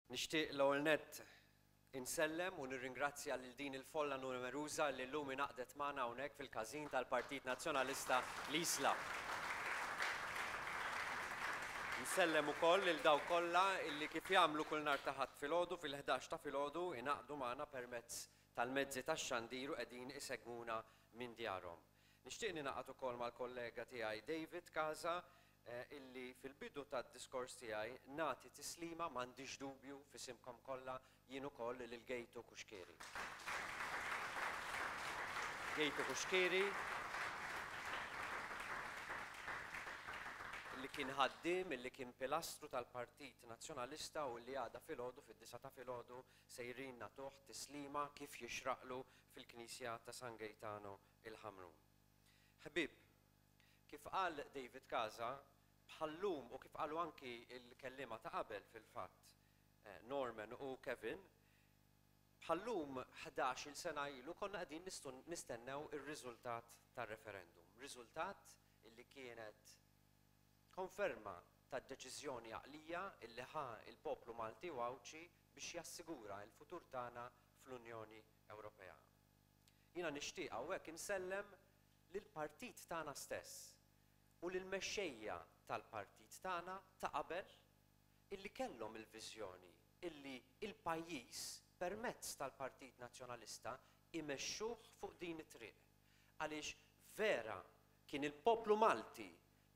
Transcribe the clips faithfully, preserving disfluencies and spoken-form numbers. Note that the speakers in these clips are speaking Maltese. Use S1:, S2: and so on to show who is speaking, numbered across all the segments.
S1: Nixtieq l-ewwel nett insellem u nirringrazzja lil din il-folla numeruża li llum ingħaqdet magħna hawnhekk fil-każin tal-Partit Nazzjonalista l-Isla. Nsellem ukoll lil dawk kollha illi kif jagħmlu kull nhar ta' Ħadd filgħodu fil-ħdax ta' filgħodu ingħaqdu magħna permezz tal-mezzi tax-xandir u qegħdin isegwuna minn djarhom. Nixtieq ningħaqad ukoll mal-kollega tiegħi David Casa illi fil-bidu tad-diskors tiegħi nagħti tislima, m'għandix dubju, f'isimkom kollha jien ukoll lil Gejtu Cuschieri. Gejtu Cuschieri li kien ħaddiem, illi kien pilastru tal-Partit Nazzjonalista u li għada filgħodu fid-disa ta' filgħodu sejrin nagħtuh tislima kif jixraqlu fil-Knisja ta' San Gaetano il-Ħamrun. Ħbieb, kif qal David Casa, bħallum u kif qalu anki il-kellima ta' qabel fil-fatt, Norman u Kevin, bħallum ħdax-il sena ilu konna qegħdin nistennew ir-riżultat tar-referendum. Riżultat illi kienet konferma tad-deċiżjoni għaqlija illi ħa il-poplu Malti u Għawdxi biex jassigura l-futur tagħna fl-Unjoni Ewropea. Jiena nixtieq hawnhekk insellem lill-partit tagħna stess u lill-mexxejja tal-partit tagħna ta' qabel illi kellhom il-viżjoni illi il-pajjiż permezz tal-Partit Nazzjonalista imexxuh fuq din it-triq. Għaliex vera kien il-poplu Malti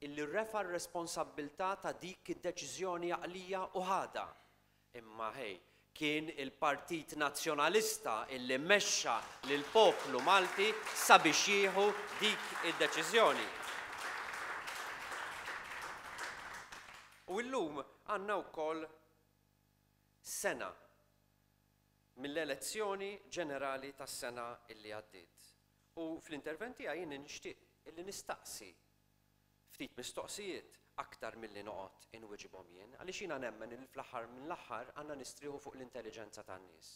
S1: illi refa r-responsabbiltà ta' dik id-deċiżjoni għaqlija u ħada. Imma ħej, kien il-Partit Nazzjonalista illi mexxa lill-poplu Malti sabiex jieħu dik id-deċiżjoni. U llum għandna wkoll sena mill-elezzjoni ġenerali tas-sena illi għaddiet. U fl-intervent tiegħi jien nixtieq illi nistaqsi ftit mistoqsijiet aktar milli noqgħod inwiġibhom jien, għaliex jiena nemmen li fl-aħħar mill-aħħar għandna nistrieħu fuq l-intelligenza tan-nies.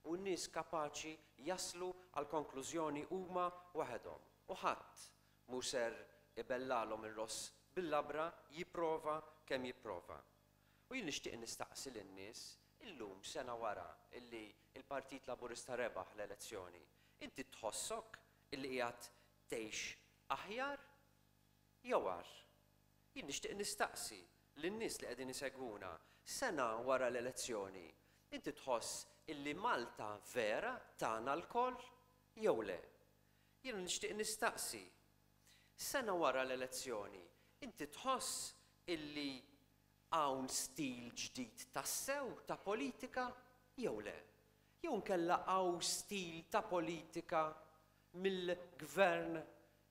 S1: U n-nies kapaċi jaslu għal konklużjoni huma waħedhom. U ħadd mhu ser ibellalhom ir-ross bil-labra jipprova kemm jipprova. U jien nixtieq nistaqsi lin-nies illum sena wara illi il-Partit Laburista rebaħ l-elezzjoni, inti tħossok illi qiegħed tgħix aħjar jew agħar? Jien nixtieq nistaqsi lin-nies li qegħdin isegwuna sena wara l-elezzjoni, inti tħoss illi Malta vera tagħna lkoll jew le? Jien nixtieq nistaqsi sena wara l-elezzjoni, inti tħoss illi hawn stil ġdid tassew ta' politika jew le? Jew nkella hawn stil ta' politika mill-gvern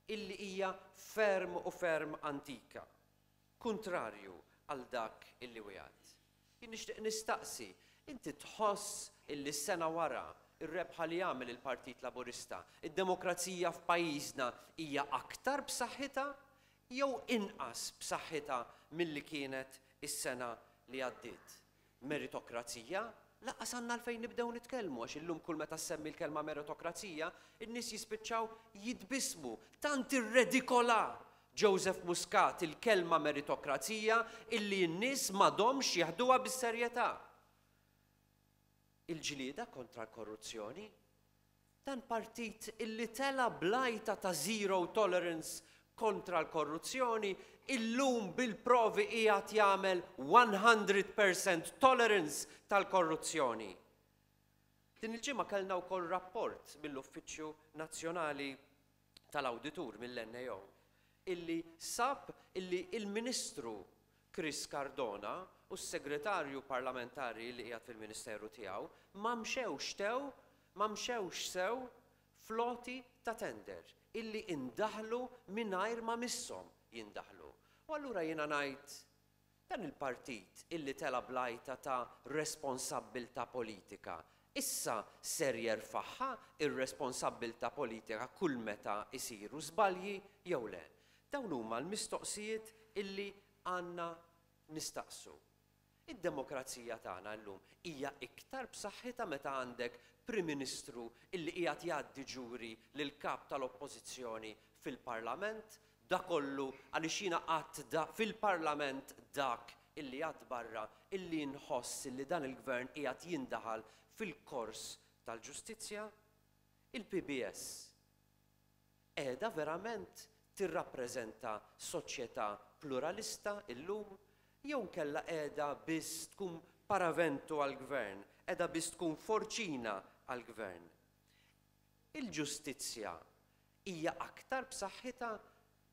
S1: illi hija ferm u ferm antika, kontrarju għal dak illi wieħed. Jien nixtieq nistaqsi, inti tħoss illi sena wara ir-rebħa li jagħmel il-Partit Laburista, id-demokrazija f'pajjiżna hija aktar b'saħħitha jew inqas b'saħħitha milli kienet is-sena li għaddiet? Meritokrazija? Lanqas għandna għalfejn nibdew nitkellmu, għax illum kull meta ssemmi l-kelma meritokrazija, in-nies jispiċċaw jitbismu. Tant irredikola Joseph Muscat il-kelma meritokrazija illi n-nies m'għadhomx jaħduha bis-serjetà. Il-ġlieda kontra l-korruzzjoni, dan partit illi tela blajta ta' zero tolerance kontra l-korruzzjoni, illum bil-provi qiegħed jagħmel one hundred percent tolerance tal-korruzzjoni. Din il-ġimgħa kellna wkoll rapport mill-Uffiċċju Nazzjonali tal-Awditur mill-N A O illi sab illi il-Ministru Chris Cardona u s-Segretarju Parlamentari li qiegħed fil-Ministeru tiegħu ma mxewx tew, ma mxewx sew floti ta' tender illi indaħlu mingħajr ma misshom jindaħlu. U allura jiena ngħid dan il-partit illi tela blajta ta' responsabbiltà politika, issa ser jerfaħħa ir-responsabbiltà politika kull meta isiru żbalji jew le? Dawn huma l-mistoqsijiet illi għandna nistaqsu. Id-demokrazija tagħna llum hija iktar b'saħħitha meta għandek Prim Ministru illi qiegħed jgħaddi ġuri lil kap tal-Oppożizzjoni fil-Parlament, da kollu għaliex jiena qatt da fil-Parlament dak illi għad barra illi nħoss illi dan il-gvern qiegħed jindaħal fil-kors tal-ġustizzja? Il-P B S qiegħda verament tirrappreżenta soċjetà pluralista illum jew nkella qiegħda biss tkun paraventu għall-gvern, qiegħda biss tkun forċina għall-gvern? Il-ġustizzja hija aktar b'saħħitha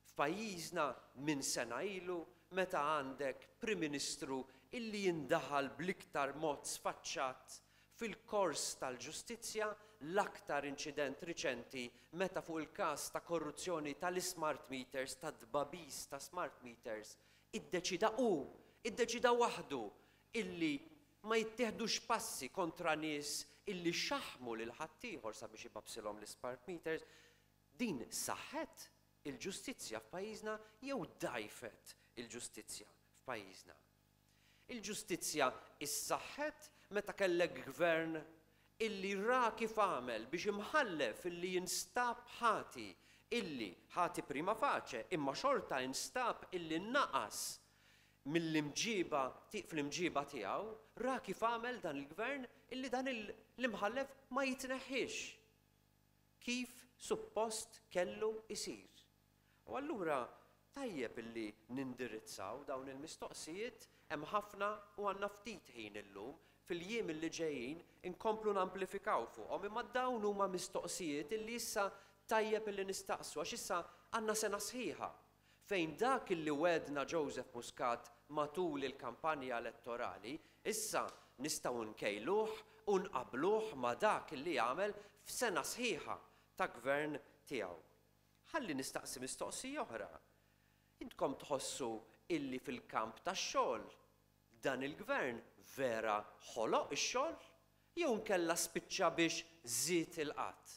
S1: f'pajjiżna minn sena ilu, meta għandek Prim Ministru illi jindaħal bl-iktar mod sfaċċat fil-kors tal-ġustizzja, l-aktar inċident riċenti meta fuq il-każ ta' korruzzjoni tal-smart meters, ta' tbagħbis ta' smart meters, iddeċida hu, iddeċida waħdu illi ma jittieħdux passi kontra nies illi xaħmu lil ħaddieħor sabiex ibagħbsilhom l-smart meters? Din saħħet il-ġustizzja f'pajjiżna jew dgħajfet il-ġustizzja f'pajjiżna? Il-ġustizzja issaħħet meta kellek gvern illi ra kif għamel biex imħallef illi jinstab ħati, illi ħati prima facie, imma xorta instab illi naqas mill-imġiba, fl-imġiba tiegħu, ra kif għamel dan il-gvern illi dan l-imħallef ma jitneħħix kif suppost kellu isir. U allura tajjeb illi nindirizzaw dawn il-mistoqsijiet. Hemm ħafna u għandna ftit ħin illum. Fil-jiem illi ġejjin inkomplu namplifikaw fuqhom, imma dawn huma mistoqsijiet illi issa tajjeb illi nistaqsu, għax issa għandna sena sħiħa fejn dak illi wegħedna Joseph Muscat matul il-kampanja elettorali issa nistgħu nkejluh u nqabluh ma dak illi għamel f'sena sħiħa ta' gvern tiegħu. Ħalli nistaqsi mistoqsija oħra. Intkom tħossu illi fil-kamp tax-xogħol dan il-gvern vera ħoloq ix-xogħol jew nkella spiċċa biex żied il-qgħad?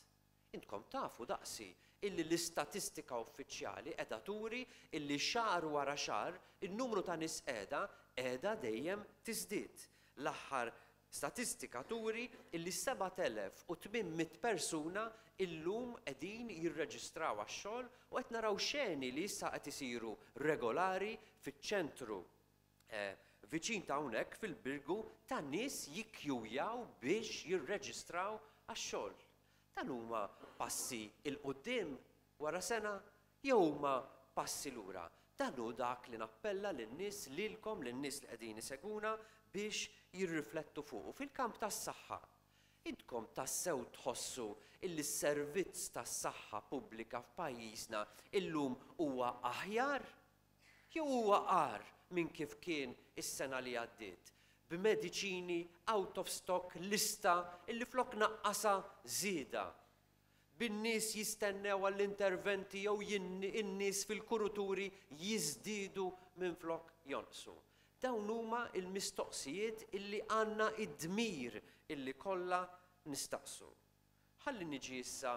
S1: Intkom tafu daqsi illi l-istatistika uffiċjali qiegħda turi illi xahar wara xahar in-numru ta' nies qiegħda qiegħda dejjem tiżdied. L-aħħar statistika turi illi sebat elef u tmien mitt persuna illum qegħdin jirreġistraw għax-xogħol u qed naraw xeni li issa qed isiru regolari fiċ-ċentru eh, viċin ta' hawnhekk fil-Birgu, ta' nies jikkjujaw biex jirreġistraw għax-xogħol. Dan huma passi 'l quddiem wara sena jew huma passi lura? Dan hu dak li nappella lin-nies, lilkom, lin-nies li qegħdin iseguna, biex jirriflettu fuq. Fil-kamp tas-saħħa, intkom tassew tħossu illi s-servizz tas-saħħa pubblika f'pajjiżna illum huwa aħjar jew huwa agħar minn kif kien is-sena li għaddiet, b'mediċini out of stock, lista illi flok naqqasa żieda, bin-nies jistennew għall-interventi jew in-nies fil-kuruturi jiżdiedu minn flok jonqsu? Dawn huma il-mistoqsijiet illi għandna id-dmir illi kollha nistaqsu. Ħalli niġi issa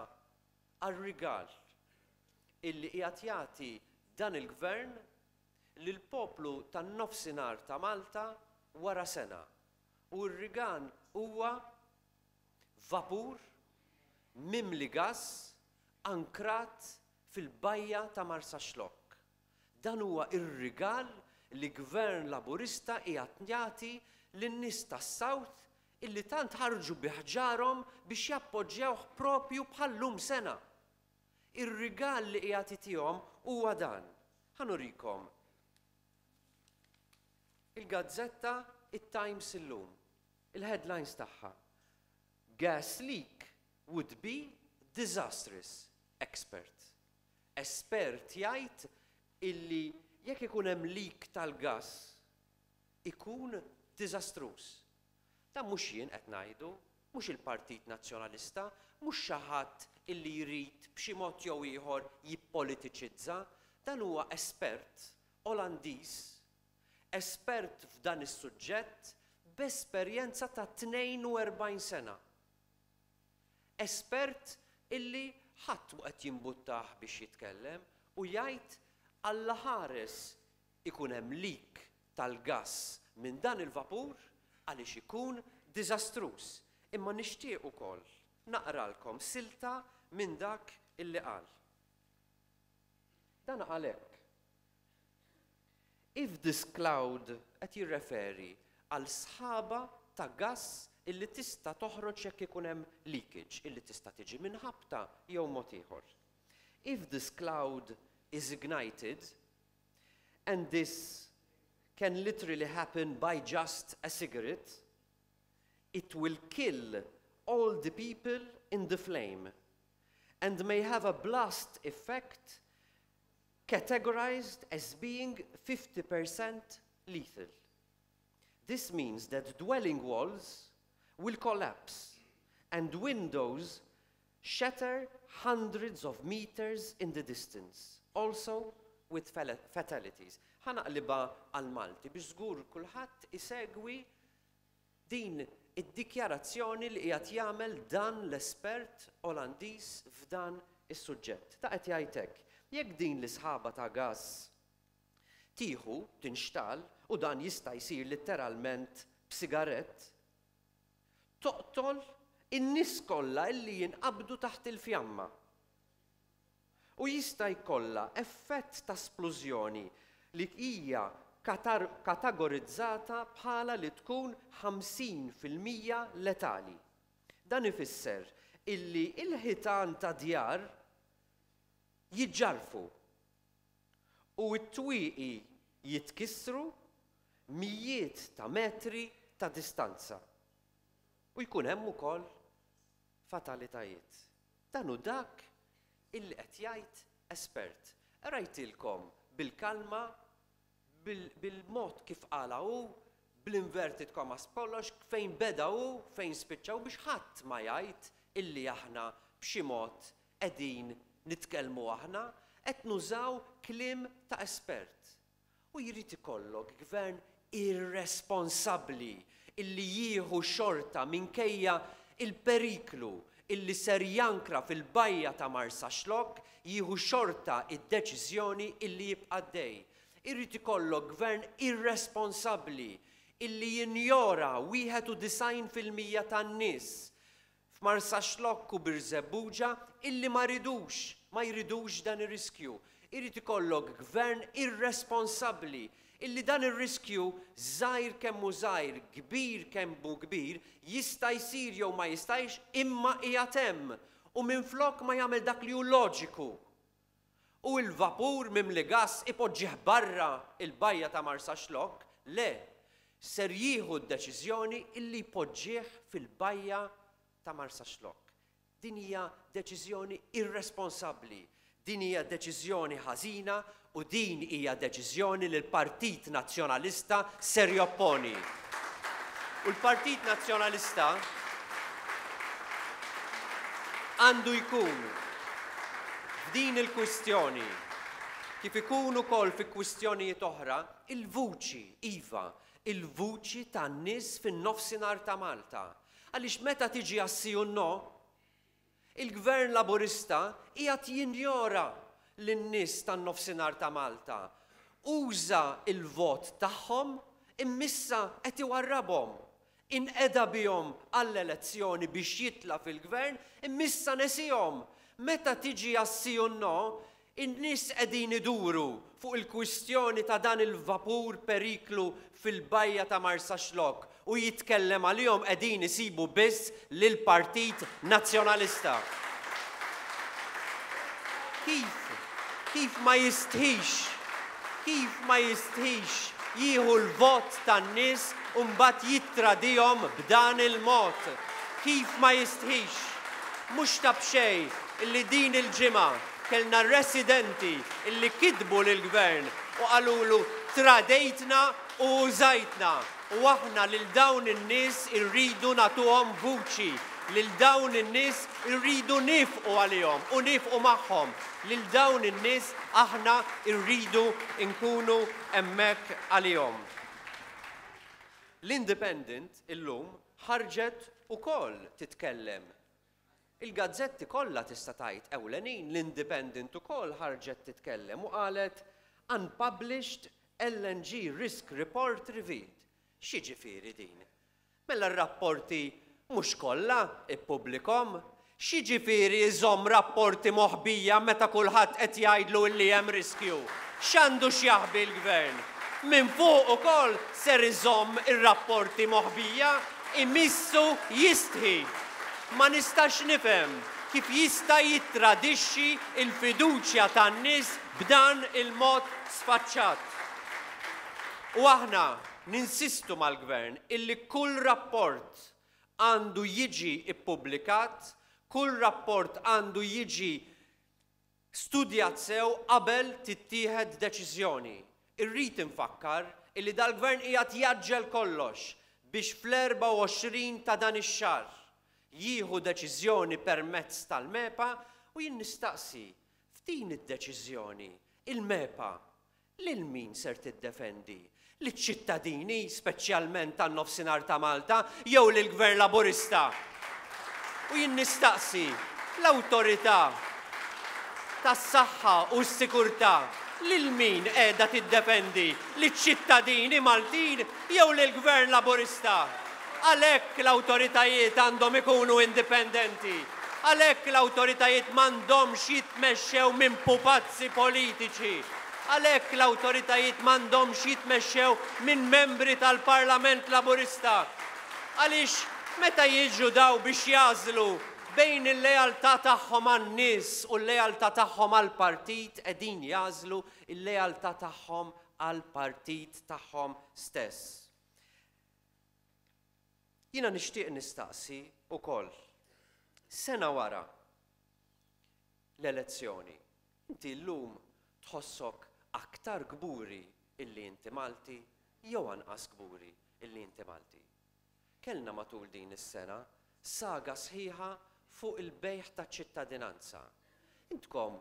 S1: għar-rigal illi qiegħed jagħti dan il-gvern lill-poplu tan-nofsinhar ta' Malta wara sena. U r-rigal huwa vapur mimli gas ankrat fil-bajja ta' Marsaxlokk. Dan huwa ir-rigal li gvern Laburista qiegħed jagħti lin-nies tas-South illi tant ħarġu bi ħġarhom biex jappoġġjawh propju bħallum sena. Ir-rigal li qiegħed itihom huwa dan. Ħa nurikom. Il-gazzetta it-Times illum, il-headlines tagħha: "Gas leak would be disastrous", expert. Espert jgħid illi jekk ikun hemm leak tal-gas ikun diżastruż. Dan mhux jien qed ngħidu, mhux il-Partit Nazzjonalista, mhux xi ħadd illi jrid b'xi mod jew ieħor jippolitiċizza, dan huwa espert Olandiż, espert f'dan is-suġġett b'esperjenza ta' tnejn u erbgħin sena. Espert illi ħadd mhu qed jimbuttah biex jitkellem u jgħid alla ħares ikun hemm leak tal-gas minn dan il-vapur għaliex ikun diżastruż. Imma nixtieq ukoll naqralkom silta minn dak illi qal. Dan għalhekk. If this cloud, qed jirreferi għal sħaba ta' gas illi tista' toħroġ jekk ikun hemm leakage, illi tista' tiġi minn ħabta jew mod ieħor. If this cloud is ignited, and this can literally happen by just a cigarette, it will kill all the people in the flame and may have a blast effect categorized as being fifty percent lethal. This means that dwelling walls will collapse and windows shatter hundreds of meters in the distance, also with fatalities. Ħa naqlibha għal-Malti biex żgur kulħadd isegwi din id-dikjarazzjoni li qiegħed jagħmel dan l-espert Olandiż f'dan is-suġġett. Ta' qed jgħidlek, jekk din l-isħaba ta' gas tieħu tinxtegħel, u dan jista' jsir letteralment b'sigarett, toqtol in-nies kollha illi jinqabdu taħt il-fjamma. U jista' jkollha effett ta' splużjoni li hija kategorizzata bħala li tkun ħamsin fil-mija letali. Dan ifisser illi il-ħitan ta' djar jiġġarfu u t-twieqi jitkissru mijiet ta' metri ta' distanza. U jkun hemm ukoll fatalitajiet. Dan hu dak illi qed jgħid espert. Rajtilkom bil-kalma, bil-mod kif qala hu, bl-inverted commas kollox, fejn beda hu, fejn spiċċaw, biex ħadd ma jgħid illi aħna b'xi mod qegħdin nitkellmu aħna, qed nużaw kliem ta' espert. U jrid ikollok gvern irresponsabbli illi jieħu xorta, minkejja il-periklu illi ser jankra fil-bajja ta' Marsaxlokk, jieħu xorta id-deċiżjoni illi jibqa' dej. Irrid ikollok gvern irresponsabbli illi jinjora wieħed u disgħin fil-mija tan-nies f'Marsaxlokk u Birżebbuġa illi ma ridux, ma jridux dan ir-riskju. Irrid ikollok gvern irresponsabbli illi dan ir-riskju, żgħir kemm hu żgħir, kbir kemm hu kbir, jista' jsir jew ma jistajx, imma qiegħed hemm. U minflok ma jagħmel dak li hu loġiku u il-vapur mimli gas ipoġġih barra il-bajja ta' Marsaxlokk, le, ser jieħu d-deċiżjoni illi jpoġġih fil-bajja ta' Marsaxlokk. Din hija deċiżjoni irresponsabbli, din hija deċiżjoni ħażina u din hija deċiżjoni li l-Partit Nazzjonalista ser jopponi. U l-Partit Nazzjonalista għandu jkun f'din il-kwistjoni, kif ikun ukoll fi kwistjonijiet oħra, il-vuċi, iva, il-vuċi tan-nies fin-nofsinhar ta' Malta. Għaliex meta tiġi għas-sì u no, il-Gvern Laburista qiegħed jinjora lin-nies tan-nofsinhar ta' Malta. Uża il-vot tagħhom, imma issa qed iwarrabhom. Inqeda bihom għall-elezzjoni biex jitla fil-gvern, imma issa nesihom. Meta tiġi għas-sì u no, in-nies qegħdin iduru fuq il-kwistjoni ta' dan il-vapur periklu fil-bajja ta' Marsaxlokk u jitkellem għalihom, qegħdin isibu biss lill-Partit Nazzjonalista. Kif? Kif ma jistħix? Kif ma jistħix jieħu l-vot tan-nies u mbagħad jittradihom b'dan il-mod? Kif ma jistħix? Mhux ta' b'xejn illi din il-ġimgħa kellna residenti illi kitbu lill-gvern u qalulu: "Tradejtna u użajtna." U aħna lil dawn in-nies irridu nagħtuhom vuċi, lil dawn in-nies irridu nieqfu għalihom u nieqfu magħhom. Lil dawn in-nies aħna irridu nkunu hemmhekk għalihom. L-Independent illum ħarġet ukoll titkellem. Il-gazzetti kollha, tista' tgħid, ewlenin, l-Independent ukoll ħarġet titkellem u qalet: "Unpublished L N G Risk Report Revealed." X'jiġifieri din? Mela r-rapporti mhux kollha ippubblikahom? X'jiġifieri iżomm rapporti moħbija meta kulħadd qed jgħidlu li hemm riskju? X'għandu x'jaħbi l-gvern? Minn fuq ukoll ser iżomm ir-rapporti moħbija, imissu jistħi. Ma nistax nifhem kif jista' jittradixxi l-fiduċja tan-nies b'dan il-mod sfaċċat. U aħna ninsistu mal-gvern illi kull rapport għandu jiġi ippubblikat, kull rapport għandu jiġi studjat sew qabel tittieħed deċiżjoni. Irrid infakkar illi dal-gvern qiegħed jaġġel kollox biex fl-erbgħa u għoxrin ta' dan ix-xahar jieħu deċiżjoni permezz tal-MEPA u jien nistaqsi f'din id-deċiżjoni il-MEPA lil min ser tiddefendi? Liċ-ċittadini, speċjalment tan-nofsinhar ta' Malta, jew lill-Gvern Laburista? U jien nistaqsi l-awtorità tas-saħħa u s-sikurtà lil min qiegħda tiddefendi? Liċ-ċittadini Maltin jew lill-Gvern Laburista? Għalhekk l-awtoritajiet għandhom ikunu indipendenti. Għalhekk l-awtoritajiet m'għandhomx jitmexxew minn pupazzi politiċi. Għalhekk l-awtoritajiet m'għandhomx jitmexxew minn membri tal-Parlament Laburista. Għaliex meta jiġu daw biex jażlu bejn il-lealtà tagħhom għan-nies u l-lealtà tagħhom għall-partit, qegħdin jażlu il-lealtà tagħhom għall-partit tagħhom stess. Jiena nixtieq nistaqsi wkoll, sena wara l-elezzjoni, inti llum tħossok aktar kburi illi inti Malti jew anqas kburi illi inti Malti? Kellna matul din is-sena saga sħiħa fuq il-bejħ ta' ċittadinanza. Intkom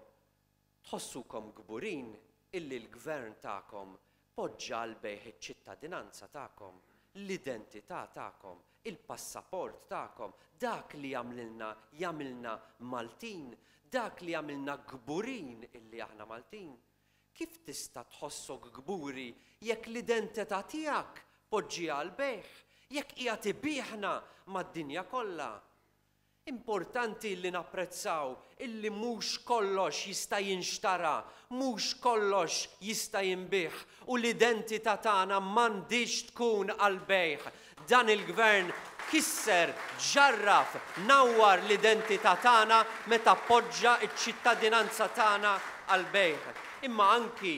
S1: tħossukom kburin illi l-gvern tagħkom poġġa l-bejħ iċ-ċittadinanza tagħkom, l-identità tagħkom, il-passaport tagħkom, dak li jagħmlilna jagħmilna Maltin, dak li jagħmilna kburin illi aħna Maltin. Kif tista' tħossok kburi jekk l-identità tiegħek poġġiha għall-bejħ, jekk qiegħed ibieħna mad-dinja kollha? Importanti li napprezzaw illi mhux kollox jista' jinxtara, mhux kollox jista' jinbih u l-identità tagħna m'għandix tkun għall-bejħ. Dan il-gvern kisser, ġarraf, nawwar l-identità tagħna meta poġġa ċ-ċittadinanza tagħna għall-bejħ. Imma anki,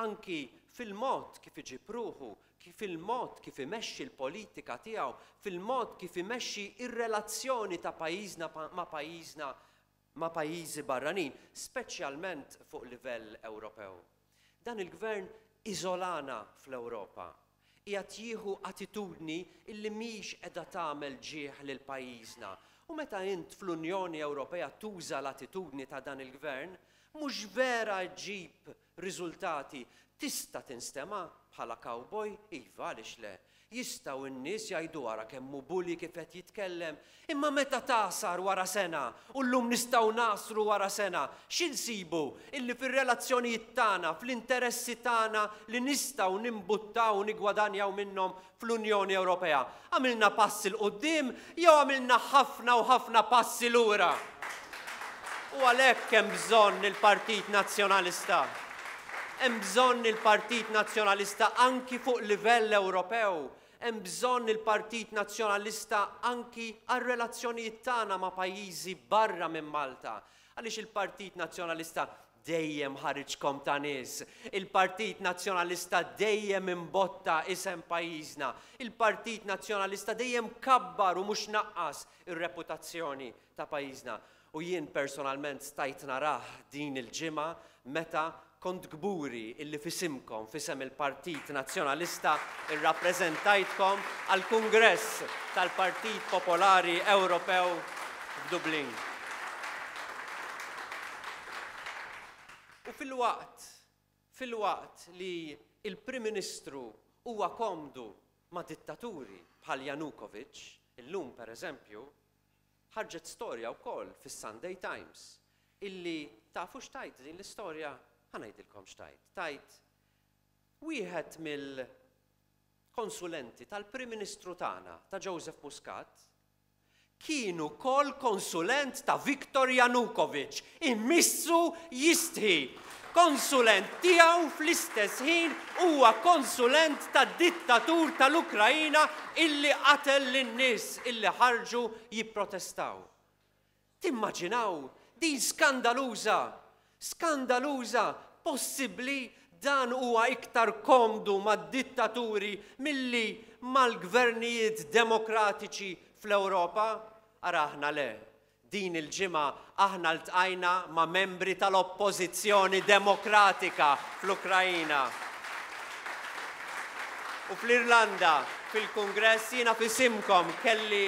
S1: anki fil-mod kif iġib ruħu, fil-mod kif imexxi l-politika tiegħu, fil-mod kif imexxi ir-relazzjoni ta' pajjiżna ma' pajjiżna ma' pajjiżi barranin, speċjalment fuq livell Ewropew. Dan il-gvern iżolana fl-Ewropa. Qiegħed jieħu attitudni illi mhix qiegħda tagħmel ġieħ lil pajjiżna. U meta int fl-Unjoni Ewropea tuża l-attitudni ta' dan il-gvern, mhux vera ġġib riżultati. Tista' tinstema' bħala cowboy? Iva, għaliex le. Jistgħu n-nies jgħidu wara kemm hu bully kif qed jitkellem, imma meta tasar wara sena, u llum nistgħu nasru wara sena, xi nsibu illi fir-relazzjonijiet tagħna, fl-interessi tagħna li nistgħu nimbuttaw u nigwadanjaw minnhom fl-Unjoni Ewropea? Għamilna passi 'l quddiem jew għamilna ħafna u ħafna passi lura? U għalhekk hemm bżonn il-Partit Nazzjonalista. Hemm bżonn il-Partit Nazzjonalista anki fuq livell Ewropew. Hemm bżonn il-Partit Nazzjonalista anki għar-relazzjonijiet tagħna ma' pajjiżi barra minn Malta. Għaliex il-Partit Nazzjonalista dejjem ħariġkom ta' nies. Il-Partit Nazzjonalista dejjem imbotta isem pajjiżna. Il-Partit Nazzjonalista dejjem kabbar u mhux naqqas ir-reputazzjoni ta' pajjiżna. U jien personalment stajt narah din il-ġimgħa meta kont kburi illi fisimkom, fisem il-Partit Nazzjonalista, irrappreżentajtkom għall-Kungress tal-Partit Popolari Ewropew f'Dublin. U fil-waqt, fil-waqt li il-Prim Ministru huwa komdu ma' dittaturi bħal Yanukovych, illum per eżempju, ħarġet storja wkoll fis-Sunday Times illi tafu x'tajt din l-istorja? Ħa ngħidilkom x'tajt. Tajt wieħed mill-konsulenti tal-Prim Ministru tagħna, ta' Joseph Muscat, Kien ukoll konsulent ta' Viktor Yanukovych, immissu jistħi. Konsulent tiegħu fl-istess ħin huwa konsulent tad-dittatur tal-Ukrajina illi qatel lin-nies illi ħarġu jipprotestaw. Timmaġinaw din skandaluża, skandaluża, possibbli dan huwa iktar komdu mad-dittaturi milli mal-gvernijiet demokratiċi fl-Ewropa? Ara aħna le. Din il-ġimgħa aħna ltqajna ma' membri tal-Oppożizzjoni Demokratika fl-Ukrajina. U fl-Irlanda, fil-Kungress, jiena f'isimkom kelli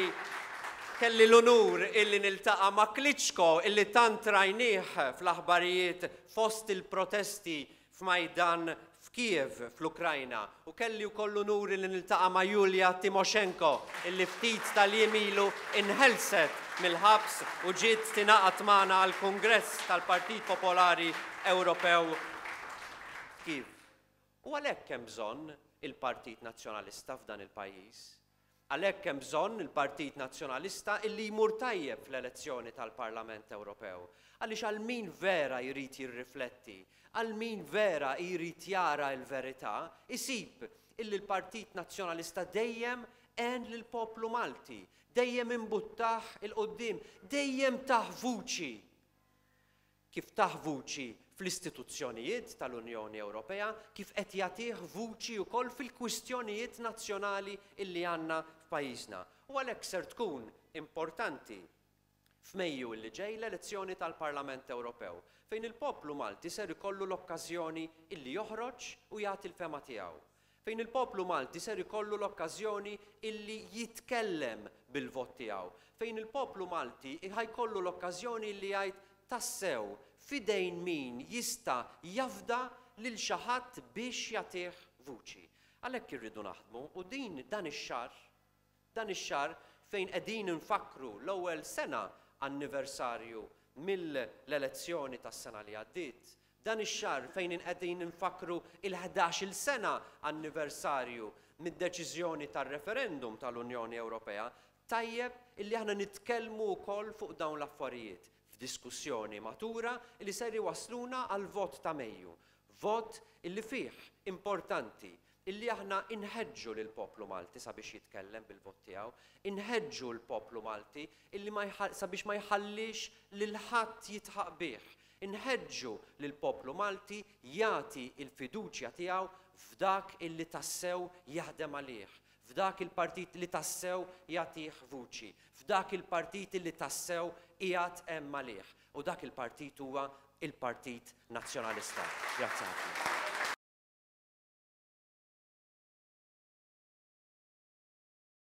S1: kelli l-unur illi niltaqa' ma' Klitschko illi tant rajnieh fl-aħbarijiet fost il-protesti f'Majdan f'Kiev fl-Ukrajna, u kelli wkoll l-unur illi niltaqa' ma' Julia Timoshenko illi ftit tal-jiem ilu inħelset mill-ħabs u ġiet tingħaqad magħna għall-Kungress tal-Partit Popolari Ewropew f'Kiev. U għalhekk hemm bżonn il-Partit Nazzjonalista f'dan il-pajjiż. Għalhekk hemm bżonn il-Partit Nazzjonalista illi jmur tajjeb fl-elezzjoni tal-Parlament Ewropew. Għaliex għal min vera jrid jirrifletti, għal min vera jrid jara l-verità, isib illi l-Partit Nazzjonalista dejjem għen lill-poplu Malti, dejjem imbuttah il-qoddim, dejjem tah vuċi. Kif tah vuċi fl-istituzzjonijiet tal-Unjoni Ewropea, kif qed jagħtih vuċi wkoll fil-kwistjonijiet nazzjonali illi għandna f'pajjiżna. U għalhekk ser tkun importanti f'Mejju illi ġej l-elezzjoni tal-Parlament Ewropew, fejn il-poplu Malti ser ikollu l-okkażjoni illi joħroġ u jagħti l-fema tiegħu. Fejn il-poplu Malti ser ikollu l-okkażjoni illi jitkellem bil-vot tiegħu. Fejn il-poplu Malti ħajkollu l-okkażjoni illi jgħid tassew fidejn min jista' jafda lil xi ħadd biex jagħtih vuċi. Għalhekk irridu naħdmu u din dan ix-xahar, dan ix-xahar fejn qegħdin nfakkru l-ewwel sena anniversarju mill-elezzjoni tas-sena li għaddiet, dan ix-xahar fejn qegħdin nfakkru il-ħdax-il sena anniversarju mid-deċiżjoni tar-referendum tal-Unjoni Ewropea, tajjeb illi aħna nitkellmu wkoll fuq dawn l-affarijiet f'diskussjoni matura illi ser iwasluna għal vot ta' Mejju. Vot illi fih importanti illi aħna inħeġġu lil poplu Malti sabiex jitkellem bil-vot tiegħu, inħeġġu l-poplu Malti illi ma jħall-, sabiex ma jħallix lil ħadd jitħaq bih, inħeġġu lil poplu Malti jagħti l-fiduċja tiegħu f'dak illi tassew jaħdem għalih, f'dak il-partit li tassew jagħtih vuċi, f'dak il-partit li tassew qiegħed hemm għalih. U dak il-partit huwa il-Partit Nazzjonalista. Grazzi ħafna.